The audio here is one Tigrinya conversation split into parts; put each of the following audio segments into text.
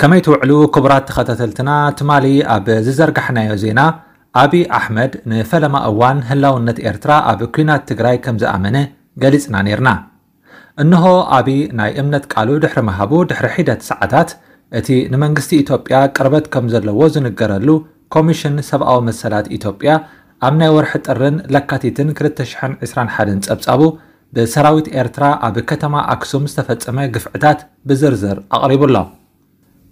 ከመይ ትውዕሉ ክቡራት ተኸታተልትና? ትማሊ ኣብ ዝዘርጋሕናዮ ዜና፣ ኣቢ ኣሕመድ ንፈለማ እዋን ህላውነት ኤርትራ ኣብ ኲናት ትግራይ ከም ዝኣመነ ገሊጽና ነይርና። እንሆ፣ ኣቢ ናይ እምነት ቃሉ ድሕሪ ምሃቡ ድሕሪ ሒደት ሰዓታት፣ እቲ ንመንግስቲ ኢትዮጵያ ቅርበት ከም ዘለዎ ዝንገረሉ ኮሚሽን ሰብኣዊ መሰላት ኢትዮጵያ፣ ኣብ ናይ ወርሒ ጥርን ለካቲትን ክልተ ሽሕን ዕስራን ሓደን ጸብጻቡ፣ ብሰራዊት ኤርትራ ኣብ ከተማ ኣክሱም ዝተፈጸመ ግፍዕታት ብዝርዝር ኣቕሪቡ ኣሎ።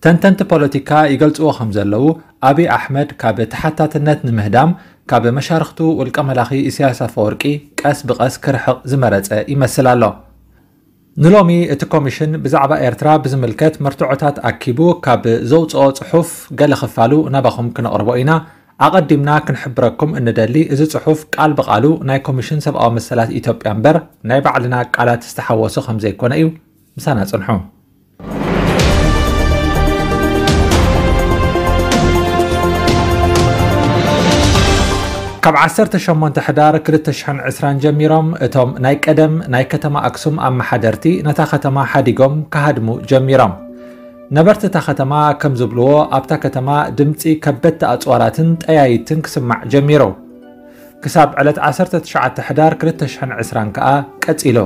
ተንተንቲ ፖለቲካ ይገልጽዎ ከም ዘለዉ፣ ኣቢ ኣሕመድ ካብ ተሓታትነት ንምህዳም፣ ካብ መሻርኽቱ ውልቀ መላኺ ኢሳያስ ኣፈወርቂ ቀስ ብቐስ ክርሕቕ ዝመረጸ ይመስል ኣሎ። ንሎሚ እቲ ኮሚሽን ብዛዕባ ኤርትራ ብዝምልከት መርትዖታት ኣኪቡ ካብ ዘውጽኦ ጽሑፍ ገለ ክፋሉ ናባኹም ክነቕርቦ ኢና። ኣቐዲምና ክንሕብረኩም እንደሊ፣ እዚ ጽሑፍ ቃል ብቓሉ ናይ ኮሚሽን ሰብኣዊ መሰላት ኢትዮጵያ እምበር ናይ ባዕልና ቃላት ዝተሓወሶ ከም ዘይኮነ እዩ። ምሳና ጽንሑ። ካብ ዓሰርተ ሸሞንተ ሕዳር ክልተ ሽሕን ዕስራን ጀሚሮም፣ እቶም ናይ ቀደም ናይ ከተማ ኣክሱም ኣመሓደርቲ ነታ ከተማ ሓዲጎም ክሃድሙ ጀሚሮም። ነበርቲ እታ ከተማ ከም ዝብልዎ፣ ኣብታ ከተማ ድምጺ ከበድቲ ኣጽዋራትን ጠያይትን ክስማዕ ጀሚሩ። ክሳብ ዕለት ዓሰርተ ትሽዓተ ሕዳር ክልተ ሽሕን ዕስራን ከኣ ቀጺሉ።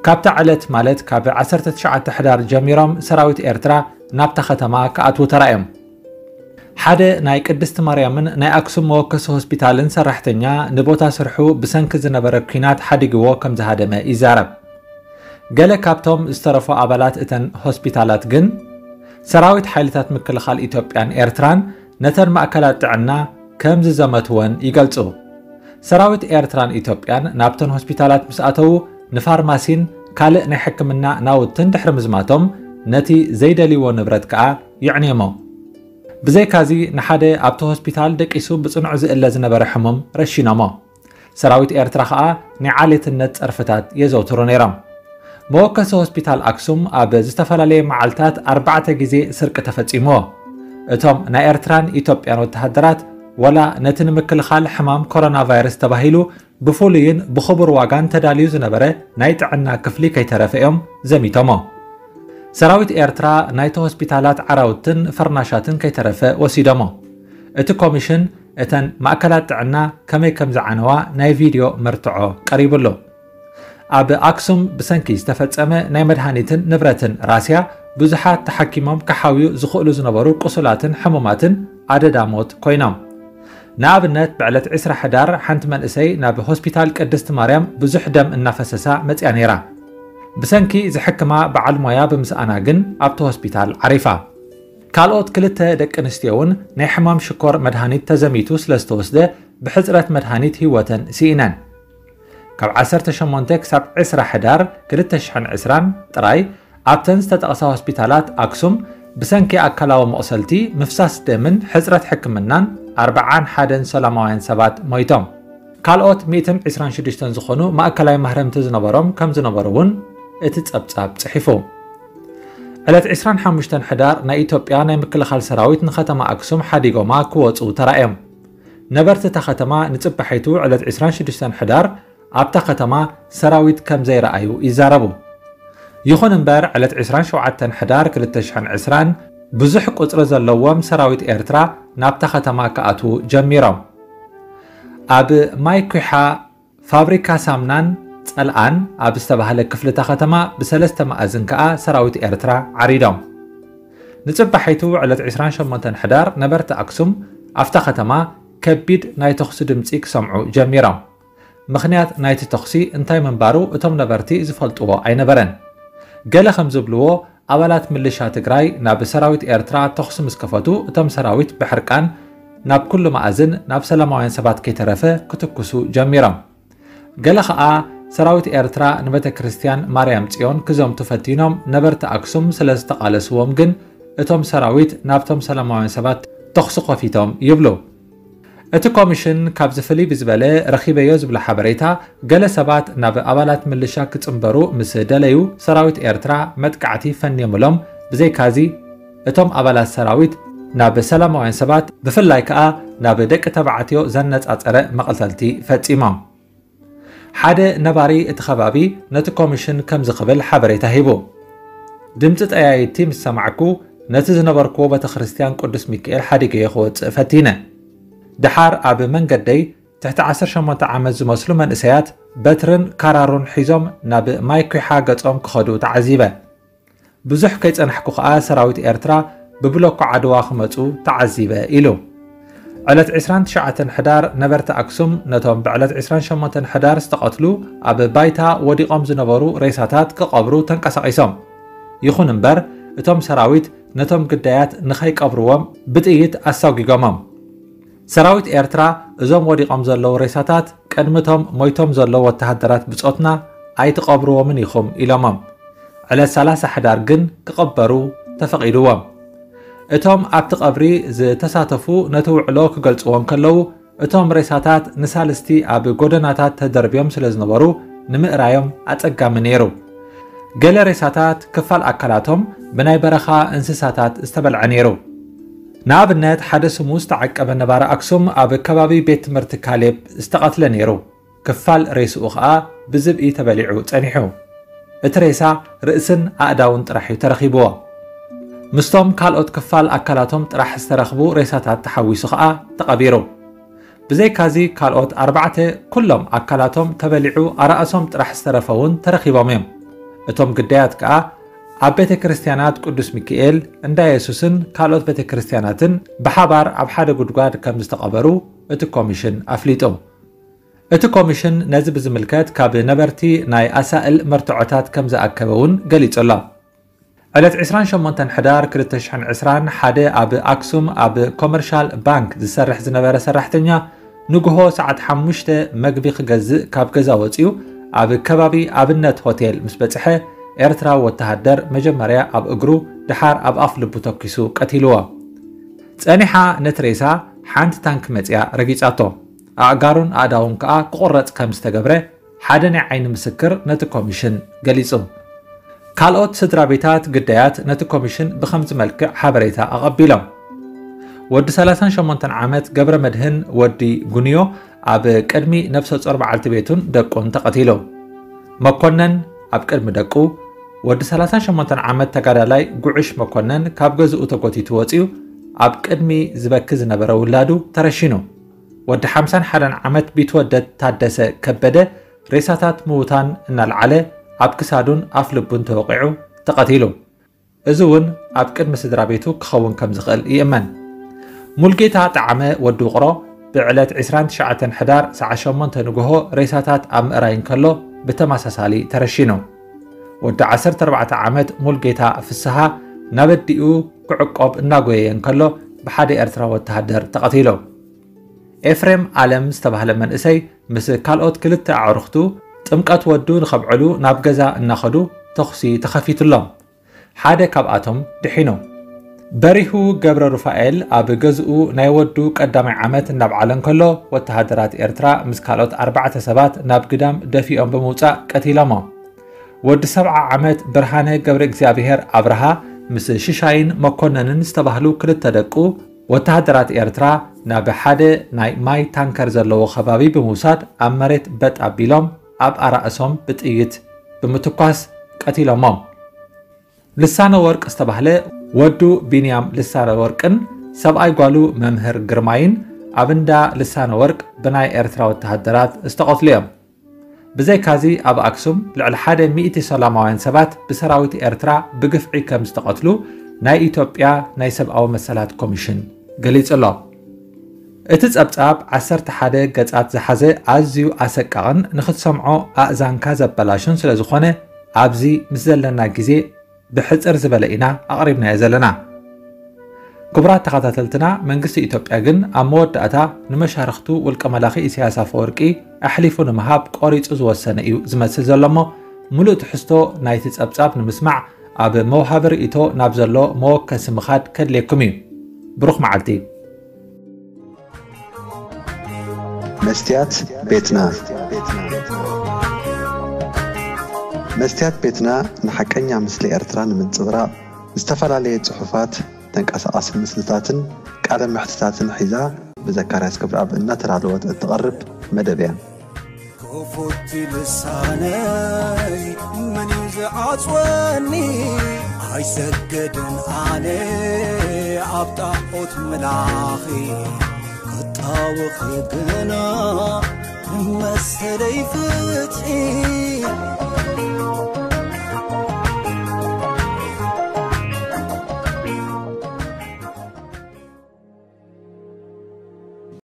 ካብታ ዕለት፣ ማለት ካብ ዓሰርተ ትሽዓተ ሕዳር ጀሚሮም፣ ሰራዊት ኤርትራ ናብታ ከተማ ክኣትዉ ተራእዮም። ሓደ ናይ ቅድስቲ ማርያምን ናይ ኣክሱም መወከሲ ሆስፒታልን ሰራሕተኛ፣ ንቦታ ስርሑ ብሰንኪ ዝነበረ ኲናት ሓዲግዎ ከም ዝሃደመ ይዛረብ። ገለ ካብቶም ዝተረፉ ኣባላት እተን ሆስፒታላት ግን፣ ሰራዊት ሓይልታት ምክልኻል ኢትዮጵያን ኤርትራን ነተን ማእከላት ጥዕና ከም ዝዘመትወን ይገልጹ። ሰራዊት ኤርትራን ኢትዮጵያን ናብተን ሆስፒታላት ምስ ኣተዉ፣ ንፋርማሲን ካልእ ናይ ሕክምና ናውትን ድሕሪ ምዝማቶም፣ ነቲ ዘይደልይዎ ንብረት ከኣ የዕንዮሞ። ብዘይካዚ፣ ንሓደ ኣብቲ ሆስፒታል ደቂሱ ብጽኑዕ ዝእለ ዝነበረ ሕሙም ረሺኖሞ። ሰራዊት ኤርትራ ከኣ ናይ ዓሌትነት ጸርፍታት የዘውትሩ ነይሮም። መወከሲ ሆስፒታል ኣክሱም ኣብ ዝተፈላለየ መዓልታት ኣርባዕተ ግዜ ስርቂ ተፈጺምዎ። እቶም ናይ ኤርትራን ኢትዮጵያን ወተሃደራት፣ ወላ ነቲ ንምክልኻል ሕማም ኮሮና ቫይረስ ተባሂሉ ብፍሉይን ብኽቡር ዋጋን ተዳልዩ ዝነበረ ናይ ጥዕና ክፍሊ ከይተረፈ እዮም ዘሚቶሞ። ሰራዊት ኤርትራ ናይቲ ሆስፒታላት ዓራውትን ፈርናሻትን ከይተረፈ ወሲዶሞ። እቲ ኮሚሽን እተን ማእከላት ጥዕና ከመይ ከም ዝዓነዋ ናይ ቪድዮ መርትዖ ቀሪቡሉ። ኣብ ኣክሱም ብሰንኪ ዝተፈጸመ ናይ መድሃኒትን ንብረትን ራስያ፣ ብዙሓት ተሓኪሞም ክሓውዩ ዝኽእሉ ዝነበሩ ቁሱላትን ሕሙማትን ኣደዳ ሞት ኮይኖም። ንኣብነት፣ ብዕለት ዕስራ ሕዳር ሓንቲ መንእሰይ ናብ ሆስፒታል ቅድስቲ ማርያም ብዙሕ ደም እናፈሰሳ መጽያ ነይራ። ብሰንኪ ዝሕክማ በዓል ሞያ ብምስኣና ግን ኣብቲ ሆስፒታል ዓሪፋ። ካልኦት ክልተ ደቂ ኣንስትዮ እውን ናይ ሕማም ሽኮር መድሃኒት ተዘሚቱ ስለ ዝተወስደ፣ ብሕጽረት መድሃኒት ህይወተን ስኢነን። ካብ ዓሰርተ ሸሞንተ ክሳብ ዕስራ ሕዳር ክልተ ሽሕን ዕስራን ጥራይ፣ ኣብተን ዝተጠቕሳ ሆስፒታላት ኣክሱም፣ ብሰንኪ ኣካላዊ መቑሰልቲ፣ ምፍሳስ ደምን ሕጽረት ሕክምናን፣ ኣርብዓን ሓደን ሰላማውያን ሰባት ሞይቶም። ካልኦት ሚእትን ዕስራን ሽዱሽተን ዝኾኑ ማእከላይ ማህረምቲ ዝነበሮም ከም ዝነበሩ እውን እቲ ጸብጻብ ጽሒፉ። ዕለት ዕስራን ሓሙሽተን ሕዳር፣ ናይ ኢትዮጵያ ናይ ምክልኻል ሰራዊት ንከተማ ኣክሱም ሓዲጎማ ክወጹ ተራእዮም። ነበርቲ እታ ከተማ ንጽባሒቱ ዕለት ዕስራን ሽዱሽተን ሕዳር ኣብታ ከተማ ሰራዊት ከም ዘይረኣዩ ይዛረቡ። ይኹን እምበር፣ ዕለት ዕስራን ሸውዓተን ሕዳር ክልተ ሽሕን ዕስራን ብዙሕ ቁጽሪ ዘለዎም ሰራዊት ኤርትራ ናብታ ከተማ ክኣትዉ ጀሚሮም። ኣብ ማይ ኲሓ፣ ፋብሪካ ሳምናን ጸልኣን ኣብ ዝተባህለ ክፍሊ እታ ከተማ ብሰለስተ መኣዝን ከኣ ሰራዊት ኤርትራ ዓሪዶም። ንጽባሒቱ ዕለት ዕስራን ሸሞንተን ሕዳር ነበርቲ ኣክሱም ኣብታ ከተማ ከቢድ ናይ ተኹሲ ድምጺ ክሰምዑ ጀሚሮም። ምኽንያት ናይቲ ተኹሲ እንታይ ምንባሩ እቶም ነበርቲ ዝፈልጥዎ ኣይነበረን። ገለ ከም ዝብልዎ፣ ኣባላት ምልሻ ትግራይ ናብ ሰራዊት ኤርትራ ተኹሲ ምስ ከፈቱ፣ እቶም ሰራዊት ብሕርቃን ናብ ኩሉ መኣዝን ናብ ሰላማውያን ሰባት ከይተረፈ ክትኩሱ ጀሚሮም። ገለ ኸኣ፣ ሰራዊት ኤርትራ ንቤተ ክርስቲያን ማርያም ጽዮን ክዘምቱ ፈቲኖም ነበርቲ ኣክሱም ስለ ዝተቓለስዎም ግን፣ እቶም ሰራዊት ናብቶም ሰላማውያን ሰባት ተኹሲ ከፊቶም ይብሉ። እቲ ኮሚሽን ካብዚ ፍልይ ብዝበለ ረኺበዮ ዝብሎ ሓበሬታ፣ ገለ ሰባት ናብ ኣባላት ምልሻ ክጽንበሩ ምስ ደለዩ፣ ሰራዊት ኤርትራ መጥቃዕቲ ፈንዮምሎም። ብዘይካዚ፣ እቶም ኣባላት ሰራዊት ናብ ሰላማውያን ሰባት፣ ብፍላይ ከኣ ናብ ደቂ ተባዕትዮ ዘነጻጸረ መቕተልቲ ፈጺሞም። ሓደ ነባሪ እቲ ከባቢ ነቲ ኮሚሽን ከምዚ ክብል ሓበሬታ ሂቡ። ድምጺ ጠያይቲ ምስ ሰማዕኩ፣ ነቲ ዝነበርክዎ ቤተ ክርስቲያን ቅዱስ ሚካኤል ሓዲገዮ ክወጽእ ፈቲነ። ደሓር ኣብ መንገደይ ትሕቲ ዓሰርተ ሸሞንተ ዓመት ዝመስሉ መንእሰያት በትርን ካራሩን ሒዞም ናብ ማይ ኲሓ ገጾም ክኸዱ ተዓዚበ። ብዙሕ ከይጸናሕኩ ከኣ ሰራዊት ኤርትራ ብብሎኮ ዓድዋ ክመጹ ተዓዚበ ኢሉ። ዕለት ዕስራን ትሽዓተን ሕዳር ነበርቲ ኣክሱም ነቶም ብዕለት ዕስራን ሸሞንተን ሕዳር ዝተቐትሉ ኣብ ባይታ ወዲቖም ዝነበሩ ሬሳታት ክቐብሩ ተንቀሳቒሶም። ይኹን እምበር እቶም ሰራዊት ነቶም ግዳያት ንኸይቀብርዎም ብጥይት ኣሳጒጎሞም። ሰራዊት ኤርትራ እዞም ወዲቖም ዘለዉ ሬሳታት ቅድሚቶም ሞይቶም ዘለዉ ወተሃደራት ብጾትና ኣይትቐብርዎምን ኢኹም ኢሎሞም። ዕለት ሰላሳ ሕዳር ግን ክቕበሩ ተፈቒድዎም። እቶም ኣብቲ ቀብሪ ዝተሳተፉ ነቲ ውዕሎ ክገልጽዎ እንከለዉ እቶም ሬሳታት ንሳልስቲ ኣብ ጎደናታት ተደርብዮም ስለ ዝነበሩ ንምእራዮም ኣጸጋሚ ነይሩ። ገለ ሬሳታት ክፋል ኣካላቶም ብናይ በረኻ እንስሳታት ዝተበልዐ ነይሩ። ንኣብነት ሓደ ስሙ ዝተዓቀበ ነባሪ ኣክሱም ኣብ ከባቢ ቤት ትምህርቲ ካሌብ ዝተቐትለ ነይሩ። ክፋል ሬስኡ ኸኣ ብዝብኢ ተበሊዑ ጸኒሑ። እቲ ሬሳ ርእስን ኣእዳውን ጥራሕ እዩ ተረኺብዎ። ምስቶም ካልኦት ክፋል ኣካላቶም ጥራሕ ዝተረኽቡ ሬሳታት ተሓዊሱ ኸኣ ተቐቢሩ። ብዘይካዚ ካልኦት ኣርባዕተ ኩሎም ኣካላቶም ተበሊዑ ኣራእሶም ጥራሕ ዝተረፈ እውን ተረኺቦም እዮም። እቶም ግዳያት ከኣ ኣብ ቤተ ክርስቲያናት ቅዱስ ሚካኤል፣ እንዳ የሱስን ካልኦት ቤተ ክርስቲያናትን ብሓባር ኣብ ሓደ ጉድጓድ ከም ዝተቐበሩ እቲ ኮሚሽን ኣፍሊጡ። እቲ ኮሚሽን ነዚ ብዝምልከት ካብ ነበርቲ ናይ ኣሳእል መርትዖታት ከም ዝኣከበ እውን ገሊጹ ኣሎ። ዕለት ዕስራን ሸሞንተን ሕዳር ክልተ ሽሕን ዕስራን ሓደ ኣብ ኣክሱም ኣብ ኮመርሻል ባንክ ዝሰርሕ ዝነበረ ሰራሕተኛ ንግሆ ሰዓት ሓሙሽተ መግቢ ክገዝእ ካብ ገዛ ወጺኡ ኣብ ከባቢ ኣብነት ሆቴል ምስ በጽሐ ኤርትራዊ ወተሃደር መጀመርያ ኣብ እግሩ ድሓር ኣብ ኣፍ ልቡ ተኪሱ ቀቲልዎ። ጸኒሓ ነቲ ሬሳ ሓንቲ ታንክ መጽያ ረጊጻቶ። ኣእጋሩን ኣእዳውን ከኣ ክቑረጽ ከም ዝተገብረ ሓደ ናይ ዓይኒ ምስክር ነቲ ኮሚሽን ገሊጹ። ካልኦት ስድራ ቤታት ግዳያት ነቲ ኮሚሽን ብኸምዚ መልክዕ ሓበሬታ ኣቐቢሎም። ወዲ ሰላሳን ሸሞንተን ዓመት ገብረ መድህን ወዲ ጉንዮ ኣብ ቅድሚ ነፍሰ ጾር በዓልቲ ቤቱን ደቁን ተቐቲሉ። መኮነን ኣብ ቅድሚ ደቁ፣ ወዲ ሰላሳን ሸሞንተን ዓመት ተጋዳላይ ጉዕሽ መኮነን ካብ ገዝኡ ተጎቲቱ ወጺኡ ኣብ ቅድሚ ዝበኪ ዝነበረ ውላዱ ተረሺኑ። ወዲ ሓምሳን ሓደን ዓመት ቢትወደድ ታደሰ ከበደ ሬሳታት ምዉታን እናልዓለ ኣብ ክሳዱን ኣፍ ልቡን ተወቒዑ ተቐቲሉ። እዚ እውን ኣብ ቅድሚ ስድራ ቤቱ ክኸውን ከም ዝኽእል ይእመን። ሙልጌታ ጠዓመ ወዲ ውቕሮ ብዕለት ዕስራን ትሽዓተን ሕዳር ሰዓት ሸሞንተ ንግሆ ሬሳታት ኣብ ምእራይ እንከሎ ብተመሳሳሊ ተረሺኑ። ወዲ ዓሰርተ ኣርባዕተ ዓመት ሙልጌታ ፍስሃ ናብ ኣዲኡ ክዕቆብ እናጎየየ እንከሎ ብሓደ ኤርትራዊ ወተሃደር ተቐቲሉ። ኤፍሬም ኣለም ዝተባህለ መንእሰይ ምስ ካልኦት ክልተ ኣዕሩኽቱ ጥምቀት ወዱ ንኸብዕሉ ናብ ገዛ እናኸዱ ተኹሲ ተኸፊቱሎም። ሓደ ካብኣቶም ድሒኑ። በሪሁ ገብረ ሩፋኤል ኣብ ገዝኡ ናይ ወዱ ቀዳማይ ዓመት እናብዓለ እንከሎ ወተሃደራት ኤርትራ ምስ ካልኦት ኣርባዕተ ሰባት ናብ ግዳም ደፊኦም ብምውጻእ ቀቲሎሞ። ወዲ ሰብዓ ዓመት ብርሃነ ገብረ እግዚኣብሔር ኣብርሃ ምስ ሽሻይን መኮነንን ዝተባህሉ ክልተ ደቁ ወተሃደራት ኤርትራ ናብ ሓደ ናይ ማይ ታንከር ዘለዎ ከባቢ ብምውሳድ ኣብ መሬት በጥ ኣቢሎም ኣብ ኣራእሶም ብጥይት ብምትኳስ ቀቲሎሞም። ልሳነ ወርቅ ዝተባህለ ወዱ ቢንያም ልሳነ ወርቅን ሰብኣይ ጓሉ መምህር ግርማይን ኣብ እንዳ ልሳነ ወርቅ ብናይ ኤርትራ ወተሃደራት ዝተቐትሉ እዮም። ብዘይካዚ ኣብ ኣክሱም ልዕሊ ሓደ ሚእቲ ሰላማውያን ሰባት ብሰራዊት ኤርትራ ብግፍዒ ከም ዝተቐትሉ ናይ ኢትዮጵያ ናይ ሰብኣዊ መሰላት ኮሚሽን ገሊጹ ኣሎ። እቲ ጸብጻብ ዓሰርተ ሓደ ገጻት ዝሓዘ ኣዝዩ ኣሰቃቕን ንኽትሰምዖ ኣእዛንካ ዘበላሹን ስለ ዝኾነ ኣብዚ ምስ ዘለና ግዜ ብሕጽር ዝበለ ኢና ኣቕሪብናዮ ዘለና። ክቡራት ተኸታተልትና፣ መንግስቲ ኢትዮጵያ ግን ኣብ መወዳእታ ንመሻርኽቱ ውልቀ መላኺ ኢሳያስ ኣፈወርቂ ኣሕሊፉ ንምሃብ ቆሪጹ ዝወሰነ እዩ ዝመስል ዘሎ እሞ፣ ምሉእ ትሕዝቶ ናይቲ ጸብጻብ ንምስማዕ ኣብ መውሃቢ ርእይቶ ናብ ዘሎ መወከሲ ምኻድ ከድልየኩም እዩ። ብሩኽ መዓልቲ። መስትያት ቤትና። መስትያት ቤትና ንሓቀኛ ምስሊ ኤርትራ ንምንጽብራቕ ዝተፈላለየ ጽሑፋት፣ ተንቀሳቓሲ ምስልታትን ቃለ መሕትታትን ሒዛ ብዘካርያስ ክብረኣብ እናተዳለወት እትቐርብ መደብ እያ። ክፉት ልሳነይ መን እዩ ዝዓጽወኒ? ኣይሰግድን ኣነ ኣብ ጣዖት ምላኺ ክጣወኺ ግና መሰለይ ፍትሒ